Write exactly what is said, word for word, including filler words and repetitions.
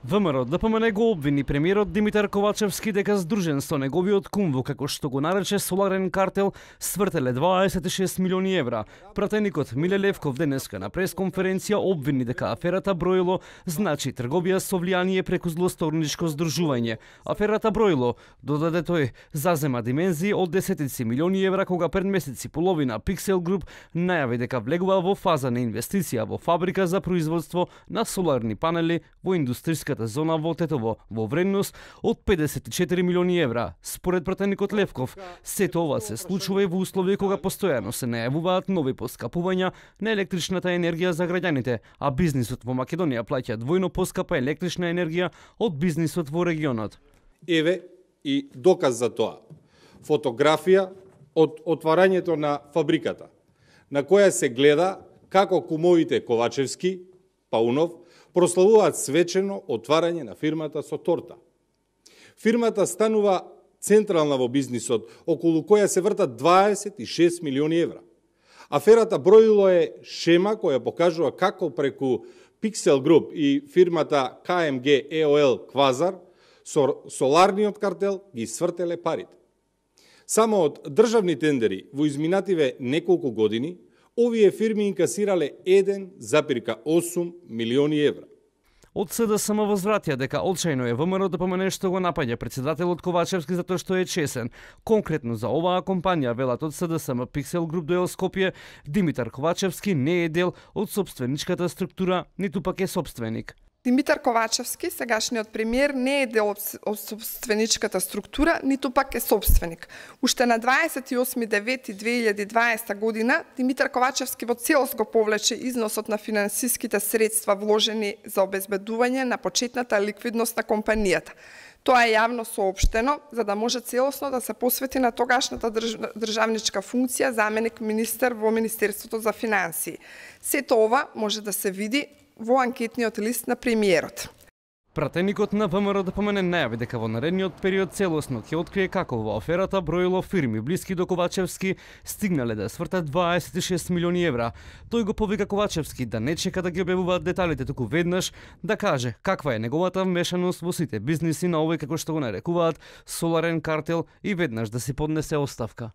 ВМРО Д П М Н го обвини премиерот Димитар Ковачевски дека здружен со неговиот кум во, како што го нарече, соларен картел, свртеле дваесет и шест милиони евра. Пратеникот Миле Левков денеска на пресконференција обвини дека аферата Броило значи трговија со влијание преку злосторничко здружување. Аферата Броило, додаде тој, зазема димензии од десетици милиони евра кога пред месеци половина Pixel Group најави дека влегува во фаза на инвестиција во фабрика за производство на соларни панели во индустријската зона во Тетово во вредност од педесет и четири милиони евра. Според пратеникот Левков, сето ова се случува и во услови кога постојано се најавуваат нови поскапувања на електричната енергија за граѓаните, а бизнисот во Македонија плаќа двојно поскапа електрична енергија од бизнисот во регионот. Еве и доказ за тоа. Фотографија од отварањето на фабриката, на која се гледа како кумовите Ковачевски, Паунов, прославуваат свечено отварање на фирмата со торта. Фирмата станува централна во бизнисот, околу која се вртат дваесет и шест милиони евра. Аферата Броило е шема која покажува како преку Pixel Group и фирмата К М Г Е О Л Квазар со соларниот картел ги свртеле парите. Само од државни тендери во изминативе неколку години овие фирми инкасирале еден запирка осум милиони евра. Од С Д С М возвратија дека очајно е В М Р Д П М Н што го напаѓа председателот Ковачевски затоа што е чесен. Конкретно за оваа компанија, велат од С Д С М, Pixel Group доел Скопје, Димитар Ковачевски не е дел од собственичката структура, ниту пак е собственик. Димитар Ковачевски, сегашниот премиер, не е дел од собственичката структура, ниту пак е собственик. Уште на дваесет и осми девети две илјади и дваесета година Димитар Ковачевски во целост го повлече износот на финансиските средства вложени за обезбедување на почетната ликвидност на компанијата. Тоа е јавно соопштено, за да може целосно да се посвети на тогашната државничка функција заменик министер во Министерството за финансии. Сето ова може да се види во анкетниот лист на премиерот. Пратеникот на В М Р Д П М Н најави дека во наредниот период целосно ќе открие како во аферата Броило фирми блиски до Ковачевски стигнале да свртат дваесет и шест милиони евра. Тој го повика Ковачевски да не чека да ги објавуваат деталите, туку веднаш да каже каква е неговата вмешаност во сите бизниси на овој, како што го нарекуваат, соларен картел, и веднаш да си поднесе оставка.